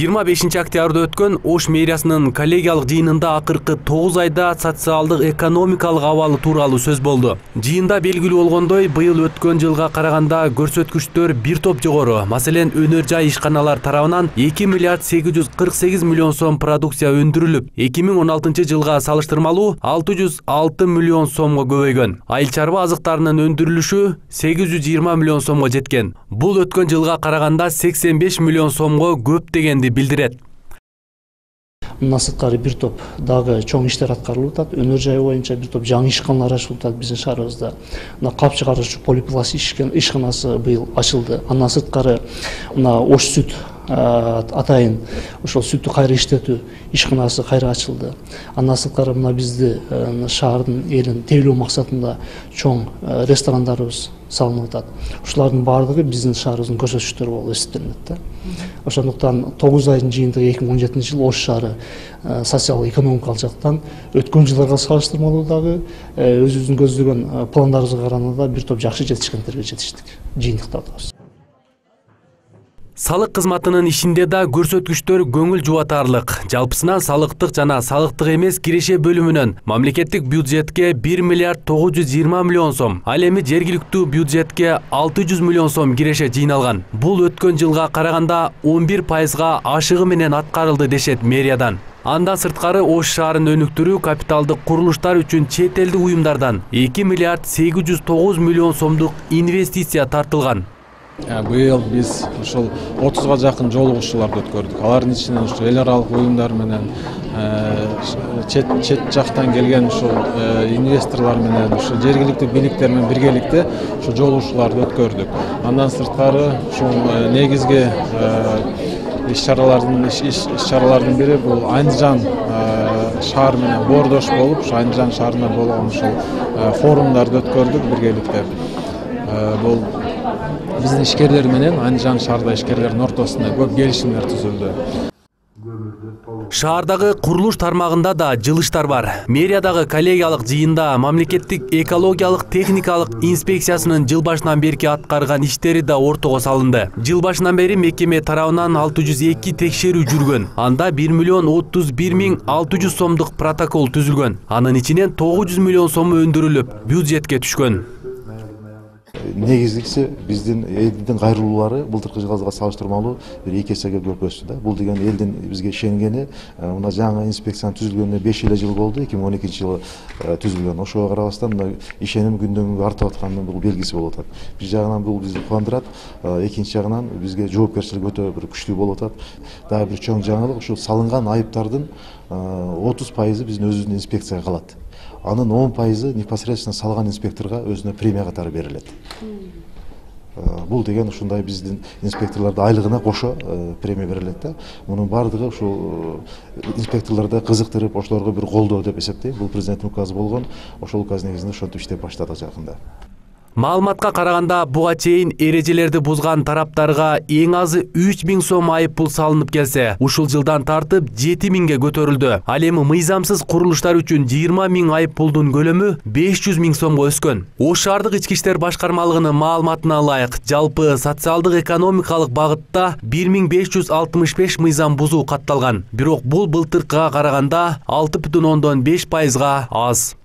25 октябрда өткөн Ош мэриясынын коллегиялык жыйынында акыркы 9 айда социалдык экономикалык абалы тууралуу сөз болду. Жыйында белгилүү болгондой, быйыл өткөн жылга караганда көрсөткүчтөр бир топ жогору. Маселен, өнөр жай ишканалар тарабынан 2 миллиард 848 миллион сом продукция өндүрүлүп, 2016 жылга салыштырмалуу 606 миллион сомго көбөйгөн. Айыл чарба азыктарынын өндүрүлүшү 820 миллион сомго жеткен. Бул өткөн жылга караганда 85 миллион сомго көп дегенди билдирет. Мындан сырткары бир топ дагы чоң иштер аткарылып атат. Өнөр жай боюнча бир топ жаңы ишканалар ачылып атат биздин шаарыбызда. Мына кап чыгаруучу полипласт ишканасы быйыл ачылды. Андан сырткары мына Ош сүт атайын ошол сүттү кайра иштетүү ишканасы кайра ачылды. Андан сырткары мына бизди шаардын элин тейлөө максатында чоң ресторандарыбыз салынып атат. Ушулардын баардыгы биздин шаарыбыздын көрсөткүчтөрү болуп эсептелинет. Ошондуктан 9 айдын жыйынтыгы 2017 жыл Ош шаары социалдык экономикалык жактан өткөн жылдарга салыштырмалуу дагы өзүбүздүн көздөгөн пландарыбызга караганда бир топ жакшы жетишкендерге жетиштик. Жыйынтыкта атабыз. Салык кызматынын ишинде да көрсөткүчтөр көңүл жубатарлык. Жалпысынан салыктык жана салыктык эмес киреше бөлүмүнөн мамлекеттик бюджетке 1 миллиард 920 миллион сом, ал эми жергиликтүү бюджетке 600 миллион сом киреше жыйналган. Бул өткөн жылга караганда 11%га ашыгы менен аткарылды дешет мэриядан. Андан сырткары Ош шаарын өнүктүрүү капиталдык курулуштар үчүн чет элдик уюмдардан 2 миллиард 809 миллион сомдук инвестиция тартылган. Быйыл биз ушул 30га жакын жолугушууларды өткөрдүк. Алардын ичинен ушул эл аралык уюмдар менен чет жактан келген ушул инвесторлор менен ушул жергиликтүү бийликтер менен биргеликте ушул жолугушууларды өткөрдүк. Андан сырткары ушул негизги иш-чаралардын бири бул Андижан шаар менен боордош болуп, ушул Андижан шаарында болгон ушул форумдарды өткөрдүк биргеликте. Бул биздин ишкерлер менен Андижан шаарда ишкерлердин ортосунда көп келишимдер түзүлдү. Шаардагы курулуш тармагында да жылыштар бар. Мэриядагы коллегиялык жыйында мамлекеттик экологиялык техникалык инспекциясынын жыл башынан берки аткарган иштери да ортого салынды. Жыл башынан бери мекеме тарабынан 602 текшерүү жүргөн. Анда 1 миллион 31 миң 600 сомдук протокол түзүлгөн. Анын ичинен 900 миллион сом өндүрүлүп, бюджетке түшкөн. Негизгиси биздин элдин кайрылуулары былтыркы жылга салыштырмалуу 2 эсеге көп өстү. Бул деген элдин бизге ишенгени, мына жаңы инспекциянын түзүлгөнүнө 5 жыл болду, 2012 жылы түзүлгөн. Ошого карабастан ишеним күндөн күнгө артып атканынын бул белгиси болуп атат. Бир жагынан бул бизди кубандырат, экинчи жагынан бизге жоопкерчилик өтө бир күчтүү болуп атат. Дагы бир чоң жаңылык, ушул салынган айыптардын 30% биздин өзүбүздүн инспекцияга калат. Анын 10% непосредственно салган инспекторго өзүнө премия катары берилет. Бул деген ушундай биздин инспекторлордун айлыгына кошо премия берилет да. Мунун баардыгы ушул инспекторлорду кызыктырып, ошолорго бир колдоо деп эсептейм. Бул президенттин указы болгон, ошол указ негизинде ошентип иштеп баштадык жакында. Маалыматка караганда буга чейин эрежелерди бузган тараптарга эң азы 3000 сом айып пул салынып келсе, ушул жылдан тартып 7000ге көтөрүлдү. Ал эми мыйзамсыз курулуштар үчүн 20 миң айып пулдун көлөмү 500 миң сомго өскөн. Ош шаардык ички иштер башкармалыгынын маалыматына ылайык, жалпы социалдык экономикалык багытта 1565 мыйзам бузуу катталган. Бирок бул былтыркыга караганда 6,5%га аз.